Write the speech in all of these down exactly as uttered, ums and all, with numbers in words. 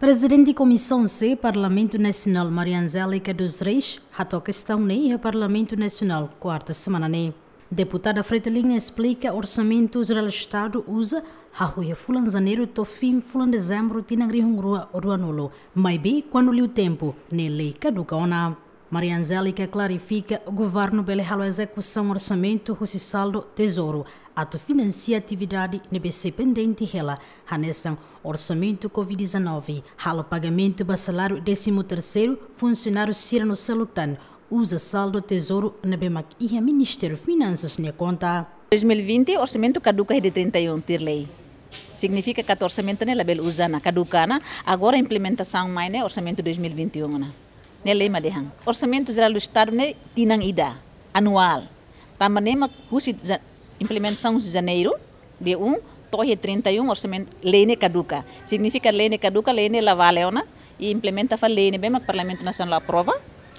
Prezidente Komisaun C Parlamentu Nasionál, Maria Angélica dos Reis, hato'o kestaun ne'e iha Parlamentu Nasionál, kuarta semana ne'e. Deputada Fretilin esplika Orsamentu Jerál Estadu uza hahú iha fulan Janeiru to'o fin fulan Dezembru tinan rihun rua ruanulu, maibé kuandu liu tempu ne'e lei kaduka ona. Maria Angélica klarifika, governu bele halo ezekusaun orsamentu husi saldu tezouru atu finansia atividade ne'ebé sei pendente hela, hanesan orsamentu covid dezanove, halo pagamentu ba saláriu désimu terseiru, funsionáriu sira no seluk tan, uza saldu tezouru ne'ebé mak iha Ministériu Finansas nia konta. Dois mil e vinte, orsamentu kaduka iha dia trinta e um, tuir lei. Signifika katak orsamentu ne'e labele uza ona, kaduka ona, agora implementasaun mai ne'e orsamentu dois mil e vinte e um ona. Ne'e lei mak dehan. Orsamentu Jerál do Estadu ne'e tinan ida, anuál. Tanba ne'e mak husi ja-, implementasaun husi Janeiru, dia um, to'o iha trinta e um, orsamentu, lei ne'e kaduka. Signifika lei ne'e kaduka, lei ne'e la vale ona, i implementa fali lei ne'ebé mak Parlamentu Nasionál aprova,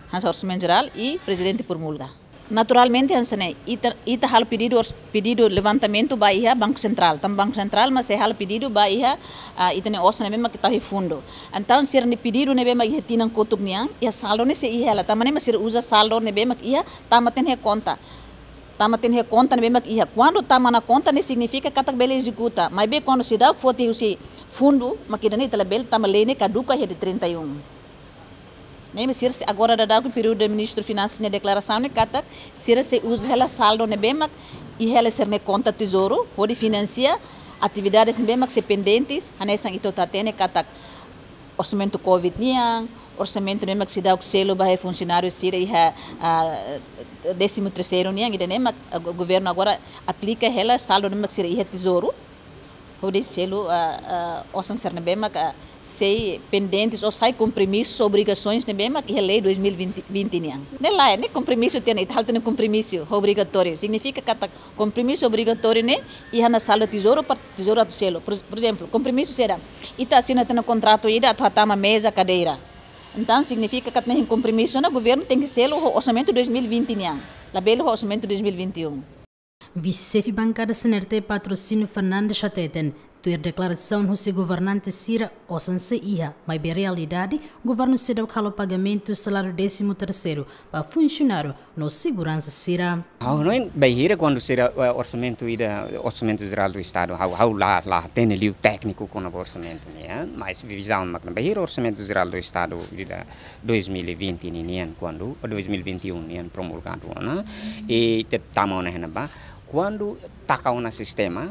hanesan Orsamentu Jerál i Prezidente promulga. Naturalmente, hanesan ne'e, ita, ita halo pedidu ors-, pedidu levantamentu ba iha Banku Sentrál. Tanba Banku Sentrál mak sei halo pedidu ba iha, ah, ita-nia osan ne'ebé mak tau iha fundu. Entaun, sira-nia pedidu ne'ebé mak iha tinan kotuk nian, iha saldu ne'e sei iha hela. Tanba ne'e mak sira uza saldu ne'ebé mak iha, tama tiha iha konta. Tama tiha iha konta ne'ebé mak iha. Kuandu tama ona konta ne'e signifika katak bele ezekuta. Maibé kuandu seidauk foti husi fundu, mak ida-ne'e ita labele, tanba lei ne'e kaduka iha dia trinta e um. Ne'e mak sira sei, agora daudaun períodu de Ministru Finansas nia deklarasaun ne'e katak sira sei uza hela saldu ne'ebé mak iha hela sira-nia konta tezouru, hodi finansia atividades ne'ebé mak sei pendentes, hanesan ita hotu hatene katak orsamentu covid nian, orsamentu ne'ebé mak seidauk selu ba iha funsionáriu sira iha, ah, désimu terseiru nian, ida-ne'e mak, ah, go-, governu agora aplika hela saldu ne'ebé mak sira iha tezouru, hodi selu, ah, ah, osan sira ne'ebé mak, ah, sei pendentes ou sai kompromisu, obrigasoens ne'ebé mak iha lei dois mil e vinte, vinte nian. Ne'e lae, ne'e kompromisu tiha ona, ita halo tiha ona kompromisu obrigatóriu. Signifika katak kompromisu obrigatóriu ne'e iha ona saldu tezouru para tezouru atu selu. Por, por ezemplu, kompromisu saida? Ita asina tiha ona kontratu ida atu hatama meza, kadeira. Entaun, signifika katak ne'e kompromisu ne'e governu tenke selu ho orsamentu dois mil e vinte nian. Labele ho orsamentu dois mil e vinte e um. Vise-Xefe Bankada C N R T Patrocínio Fernandes hateten, tuir deklarasaun husi governante sira, osan sei iha, maibé realidade, governu seidauk halo pagamentu saláriu désimu terseiru ba funsionáriu no seguransa sira. Ha'u hanoin bainhira kuandu sira, eh, orsamentu ida, Orsamentu Jerál do Estadu, ha'u, ha'u la, la hatene liu tékniku kona-ba orsamentu nian, eh, mas vizaun mak ne'e bainhira Orsamentu Jerál do Estadu ida dois mil e vinte ninian kuandu, dois mil e vinte e um nian promulgadu ona, i te tama ona iha ne'ebá, kuandu taka ona sistema,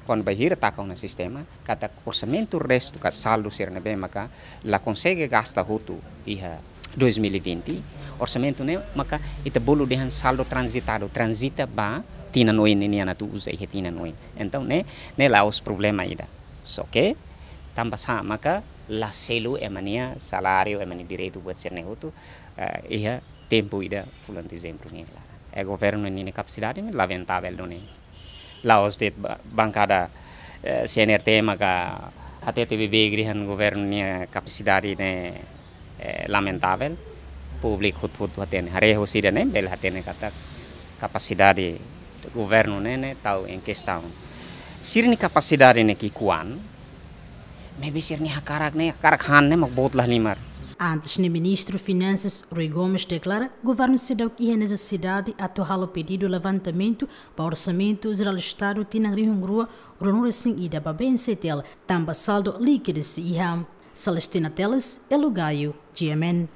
kuandu bainhira taka ona sistema, katak orsamentu restu ka saldu sira ne'ebé maka la konsege gasta hotu iha dois mil e vinte, orsamentu ne'e maka ita bolu dehan saldo transitadu, transita ba tinan oin ninian atu uza iha tinan oin. Entaun ne'e, ne'e la'ós problema ida. Só ke tanba sá maka la selu ema nia saláriu, ema nia direitu buat sira-ne'e hotu, eh, iha tempu ida fulan Dezembru nian laran. Eh, governu ninia kapasidade ne'e lamentavel duni. La'ós de'it ba-, bankada, eh, C N R T maka hatete beibeik dehan governu nia kapasidade ne'e, eh, lamentavel. Públiku hotu-hotu hatene. Haree husi ida-ne'e bele hatene katak kapasidade governu ne'e, ne'e tau em questão. Sira-nia kapasidade ne'e ki'ikoan, maibé sira-nia hakarak ne'e, hakarak han ne'e mak boot la halimar. Antes ne'e Ministru Finansas Rui Gomes deklara, governu seidauk iha nesesidade atu halo pedidu levantamentu ba Orsamentu Jerál Estadu tinan rihun rua ruanulu-resin-ida ba B N C T L, tanba saldo líkidu sei iha. Celestina Teles, Elo Gaio, G M N.